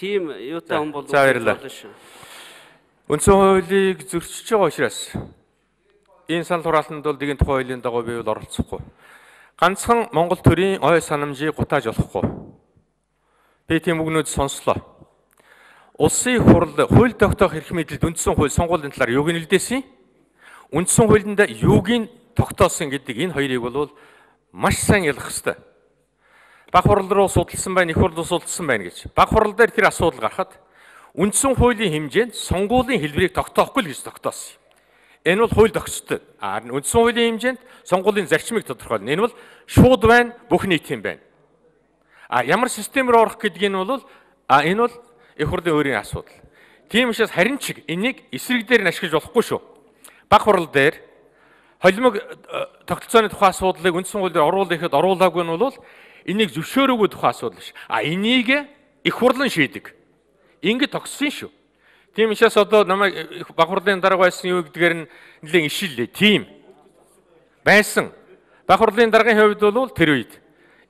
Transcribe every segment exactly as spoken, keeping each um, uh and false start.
тийм юутай хүн бол болно шүү. Үндсэн хуулийг зөрчиж байгаа учраас энэ санал хураалтанд бол нэгэн тухай хуулийн дагуу би бол оролцохгүй. Ганцхан Монгол төрийн ой санамжийг гутааж болохгүй. Би тийм үгнүүд сонслоо. Улсын хурал хууль тогтоох эрх мэдэлд үндсэн хууль сонгуулийн талаар юуг нь илдээсэн? Үндсэн хуулинд юуг нь тогтоосон гэдэг энэ хоёрыг бол маш сайн ялах хэрэгтэй. Баг хурал руу судалсан байна, их хурал руу судалсан байна гэж. Баг хурал дээр тэр асуудал гарахад үндсэн хуулийн хэмжээнд сонгуулийн хэлбэрийг тогтоохгүй л гэж тогтоосон. Энэ бол хууль тогтцтой. А үндсэн хуулийн хэмжээнд сонгуулийн зарчмыг тодорхойлно. Энэ бол шууд байна, бүх нийтийн байна. А ямар системээр орох гэдгийг нь бол а энэ бол их хурлын өөрийн асуудал. Тийм учраас харин ч энийг эсрэг дээр нь ашиглаж болохгүй шүү. Баг хурал дээр холимог тогтолцооны тухай асуудлыг үндсэн хууль дээр оруулах гэхэд оруулаагүй нь бол энийг зөвшөөрөөгүй тухай асуудал ш. А энийг их хурлын шийдэг. Ингэ тогссон шүү. Тийм учраас одоо намайг баг хурлын дарга байсан юу гэдгээр нь нэлээд ишиллээ. Тийм байсан. Баг хурлын даргын хувьд бол тэр үед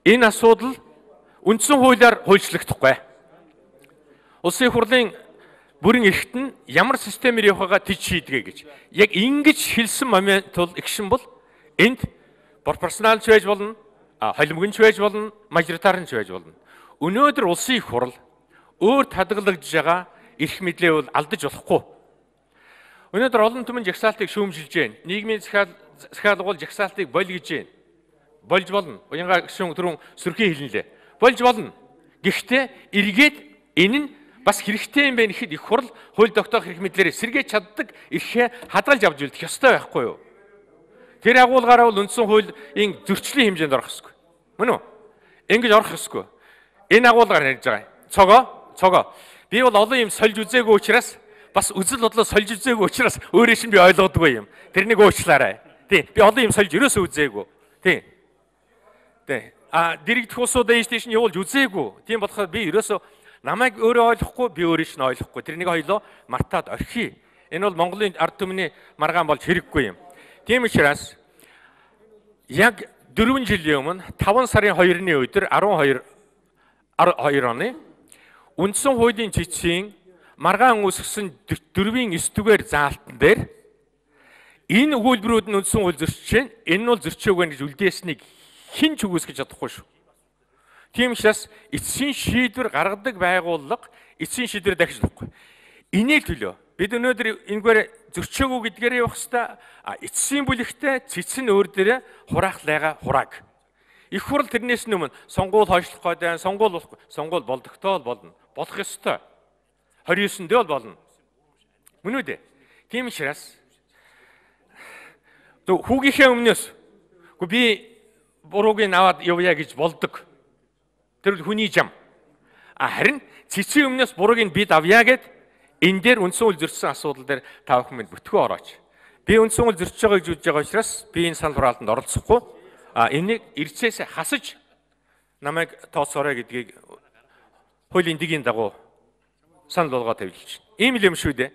энэ асуудал үндсэн хуулиар хуульчлагдахгүй. Улсын хурлын бүрэн эрхт нь ямар системээр явахгаа тийж шийдгээ гэж. Яг ингэж хэлсэн момент бол эгшин бол энд пропорционалч байж болно, холимогч байж болно, мажоритарч байж болно. Өнөөдөр улсын их хурал өөр хадгалагдж байгаа эрх мэдлээ бол алдаж болохгүй. Өнөөдөр олон түмэн жагсаалтыг шүүмжилж байна. Нийгмийн захиалгуул жагсаалтыг боль гэж байна. Болж болно. Уянга гişүн түрүүн сөрхий хэлнэлээ. Болж болно. Гэхдээ эргээд энэ нь бас хэрэгтэй юм байна гэхэд их хурал хууль тогтоох эрх мэдлээрээ сэргээж чаддаг эрхээ хадгалж авч үлдэх ёстой байхгүй юу? Тэр агуулгаараа бол үндсэн хуулийн зөрчлийн хэмжээнд орох ёсгүй. Мөн үү? Ингэж орох ёсгүй. Энэ агуулгаар ярьж байгаа. Цогоо, цогоо. Би бол олон юм сольж үзээгүй учраас бас үзэл бодлоо сольж үзээгүй учраас өөрөө чинь би ойлгодгүй юм. Тэрнийг уучлаарай. Тий. Би олон юм сольж ерөөсөө үзээгүй. Тий. Тий. А дэрэгдэх усуудаа ийш тийш нь явуулж үзээгүй. Тийм болохоор би ерөөсөө намайг өөрөө ойлгохгүй, би өөрөө чинь ойлгохгүй. Тэрнийг хоёлоо мартаад орхий. Энэ бол Монголын ард түмний маргаан болж хэрэггүй юм. Тийм учраас яг дөрвөн жилийн өмнө таван сарын хоёрны өдөр арван хоёр оны үндсэн хуулийн цэцгийн маргаан үүсгэсэн дөрвийн эс түгээр заалтан дээр энэ өгүүлбэрүүд нь үндсэн хууль зөрчиж байна. Энэ нь бол зөрчөөгүй гэж үлдээснийг хэн ч үгүйсгэж чадахгүй шүү. Тийм учраас эцсийн шийдвэр гаргадаг байгууллага эцсийн шийдвэр дахиж болохгүй. Энийг төлөө бид өнөөдөр энэгээр зөрчөөгүй гэдгээр явах хэвээр эцсийн бүлэгтээ цэцэн өөр дээрээ хураах лайга хурааг. Их хурал тэрнээс өмнө сонгуул хойшлох гэдэг, сонгуул болохгүй, сонгуул болдогтой бол болно. Болох ёстой. двадцать девятөнд бол болно. Мөн үү дээ? Тийм учраас хүүгийнхээ өмнөөс үгүй би бурууг нь аваад явъя гэж болдог. Тэр хүний зам. А харин цэцгийн өмнөөс бурууг нь бид авъя гэд энэ дээр үндсэн хууль зөрчсөн асуудал дээр та бүхэн бүтгэн орооч. Би үндсэн хууль зөрчиж байгааг үзэж байгаа учраас би энэ санал хураалтанд оролцохгүй. А энийг эрцээс хасаж намайг тооцоорой гэдгийг хуулийн дэгийн дагуу санал болгоод тавьж байна. Ийм л юм шүү дээ.